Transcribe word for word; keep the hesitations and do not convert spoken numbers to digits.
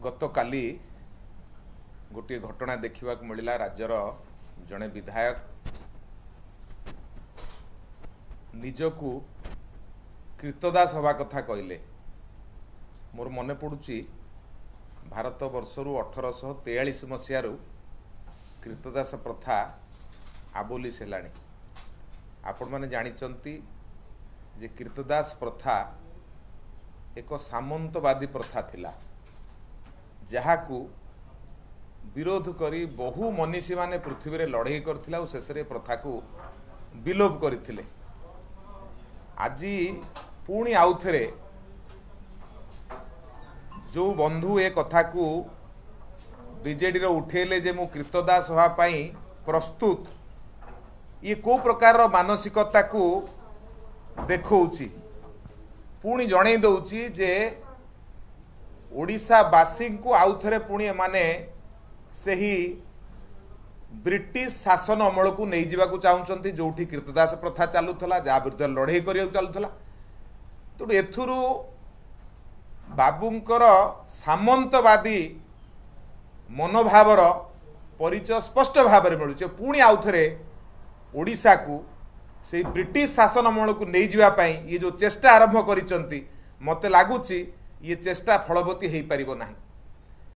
ଗତକାଲି ଗୋଟିଏ ଘଟଣା ଦେଖିବାକୁ ମିଳିଲା। ରାଜ୍ୟର ଜଣେ ବିଧାୟକ ନିଜକୁ କ୍ରୀତଦାସ ହେବା କଥା କହିଲେ। ମୋର ମନେ ପଡ଼ୁଛି, ଭାରତ ବର୍ଷରୁ ଅଠରଶହ ତେୟାଳିଶ ମସିହାରୁ କ୍ରୀତଦାସ ପ୍ରଥା ଆବୋଲିସ୍ ହେଲାଣି। ଆପଣମାନେ ଜାଣିଛନ୍ତି ଯେ କ୍ରୀତଦାସ ପ୍ରଥା ଏକ ସାମନ୍ତବାଦୀ ପ୍ରଥା ଥିଲା, ଯାହାକୁ ବିରୋଧ କରି ବହୁ ମନୀଷୀମାନେ ପୃଥିବୀରେ ଲଢ଼େଇ କରିଥିଲେ ଆଉ ଶେଷରେ ପ୍ରଥାକୁ ବିଲୋପ କରିଥିଲେ। ଆଜି ପୁଣି ଆଉଥରେ ଯେଉଁ ବନ୍ଧୁ ଏ କଥାକୁ ବିଜେଡ଼ିର ଉଠେଇଲେ ଯେ ମୁଁ କ୍ରୀତଦାସ ହେବା ପାଇଁ ପ୍ରସ୍ତୁତ, ଇଏ କେଉଁ ପ୍ରକାରର ମାନସିକତାକୁ ଦେଖାଉଛି? ପୁଣି ଜଣେଇ ଦେଉଛି ଯେ ଓଡ଼ିଶାବାସୀଙ୍କୁ ଆଉଥରେ ପୁଣି ଏମାନେ ସେହି ବ୍ରିଟିଶ ଶାସନ ଅମଳକୁ ନେଇଯିବାକୁ ଚାହୁଁଛନ୍ତି, ଯେଉଁଠି କ୍ରୀତଦାସ ପ୍ରଥା ଚାଲୁଥିଲା, ଯାହା ବିରୁଦ୍ଧରେ ଲଢ଼େଇ କରିବାକୁ ଚାଲୁଥିଲା। ତେଣୁ ଏଥିରୁ ବାବୁଙ୍କର ସାମନ୍ତବାଦୀ ମନୋଭାବର ପରିଚୟ ସ୍ପଷ୍ଟ ଭାବରେ ମିଳୁଛି। ପୁଣି ଆଉଥରେ ଓଡ଼ିଶାକୁ ସେଇ ବ୍ରିଟିଶ ଶାସନ ଅମଳକୁ ନେଇଯିବା ପାଇଁ ଇଏ ଯେଉଁ ଚେଷ୍ଟା ଆରମ୍ଭ କରିଛନ୍ତି, ମୋତେ ଲାଗୁଛି ଇଏ ଚେଷ୍ଟା ଫଳବତୀ ହେଇପାରିବ ନାହିଁ।